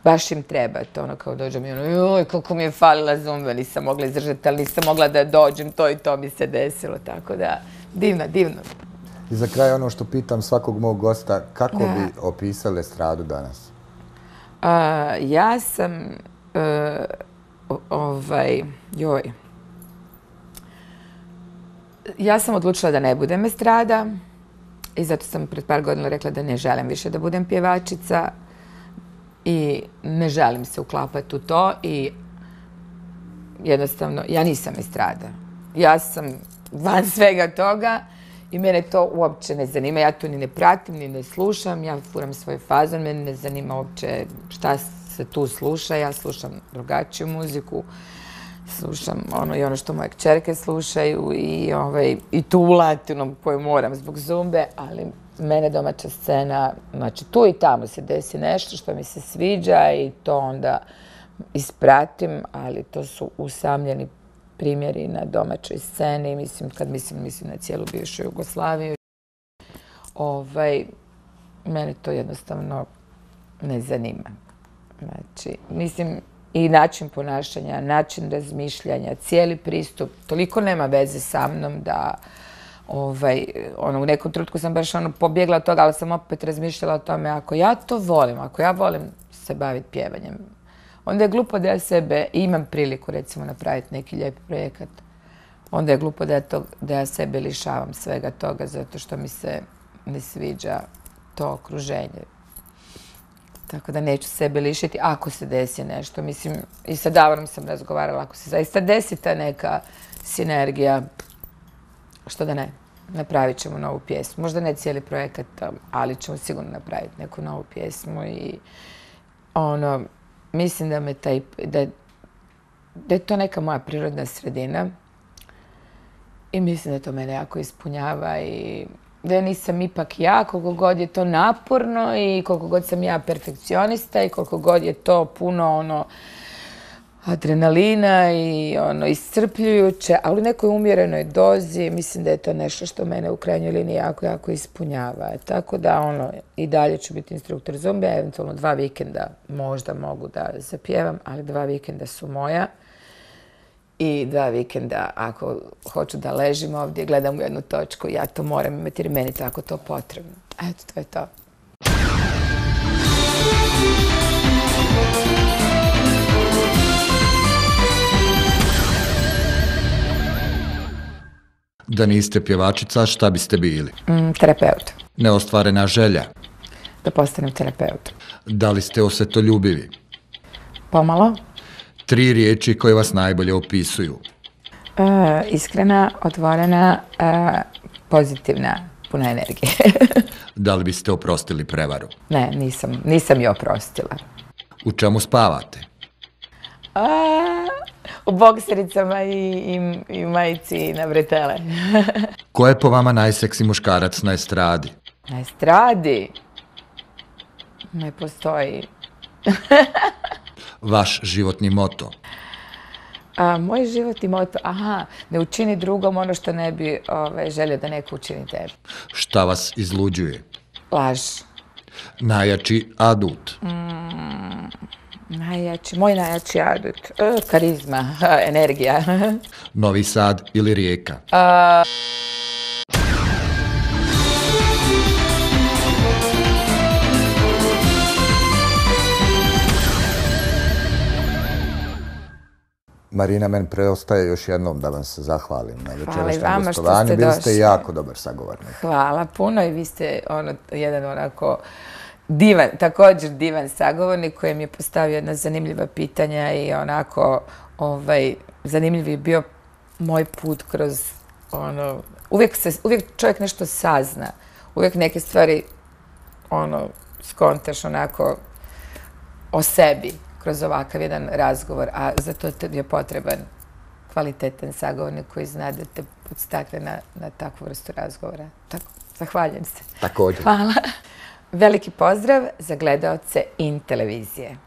baš im treba to, kao dođem i joj, koliko mi je falila zumba, nisam mogla izdržati, ali nisam mogla da dođem, to i to mi se desilo, tako da, divno. I za kraj ono što pitam svakog mog gosta, kako bi opisali estradu danas? Ja sam, ja sam odlučila da ne budem estrada i zato sam pred par godina rekla da ne želim više da budem pjevačica i ne želim se uklapati u to i jednostavno ja nisam estrada. Ja sam van svega toga i mene to uopće ne zanima. Ja to ni ne pratim, ni ne slušam. Ja furam svoj fazon, mene ne zanima uopće šta se tu sluša. Ja slušam drugačiju muziku. Slušam i ono što moje kćerke slušaju i tu latinu koju moram zbog zumbe, ali mene domaća scena, znači tu i tamo se desi nešto što mi se sviđa i to onda ispratim, ali to su usamljeni primjeri na domaćoj sceni, mislim na cijelu bivšu Jugoslaviju. Mene to jednostavno ne zanima. Znači, mislim, i način ponašanja, način razmišljanja, cijeli pristup, toliko nema veze sa mnom da u nekom trenutku sam baš pobjegla od toga, ali sam opet razmišljala o tome, ako ja to volim, ako ja volim se baviti pjevanjem, onda je glupo da ja sebe, imam priliku recimo napraviti neki lijepi projekat, onda je glupo da ja sebe lišavam svega toga zato što mi se ne sviđa to okruženje. Tako da neću sebe lišiti ako se desi nešto. Mislim, i sa Davorom sam razgovarala, ako se zaista desi ta neka sinergija, što da ne, napravit ćemo novu pjesmu. Možda ne cijeli projekat, ali ćemo sigurno napraviti neku novu pjesmu i mislim da je to neka moja prirodna sredina i mislim da to mene jako ispunjava i da ja nisam ipak ja, koliko god je to naporno i koliko god sam ja perfekcionista i koliko god je to puno adrenalina i iscrpljujuće, ali u nekoj umjerenoj dozi mislim da je to nešto što mene u krajnjoj liniji jako ispunjava. Tako da i dalje ću biti instruktor zumbe, eventualno 2 vikenda možda mogu da zapjevam, ali 2 vikenda su moja. I 2 vikenda, ako hoću da ležim ovdje, gledam u jednu točku, ja to moram imati jer meni tako to potrebno. Eto, to je to. Da niste pjevačica, šta biste bili? Terapeut. Neostvarena želja? Da postanem terapeut. Da li ste osvetoljubivi? Pomalo. 3 riječi koje vas najbolje opisuju? Iskrena, otvorena, pozitivna, puna energije. Da li biste oprostili prevaru? Ne, nisam je oprostila. U čemu spavate? U boksericama i majici na bretele. Ko je po vama najseksi muškarac na estradi? Na estradi? Ne postoji. Vaš životni moto? Moj životni moto, ne učini drugom ono što ne bi želio da neko učini tebi. Šta vas izluđuje? Laž. Najjači adut? Moj najjači adut. Karizma, energija. Novi Sad ili Rijeka? Marina, meni preostaje još jednom da vam se zahvalim na večerašnjem gostovanju. Bili ste jako dobar sagovornik. Hvala puno i vi ste jedan onako također divan sagovornik koji mi je postavio jedna zanimljiva pitanja i onako zanimljiv je bio moj put kroz uvijek čovjek nešto sazna, uvijek neke stvari skontaš onako o sebi kroz ovakav jedan razgovor, a za to je potreban kvalitetan sagovornik koji zna da te podstakne na takvu vrstu razgovora. Tako, zahvaljujem se. Također. Hvala. Veliki pozdrav za gledaoce IN televizije.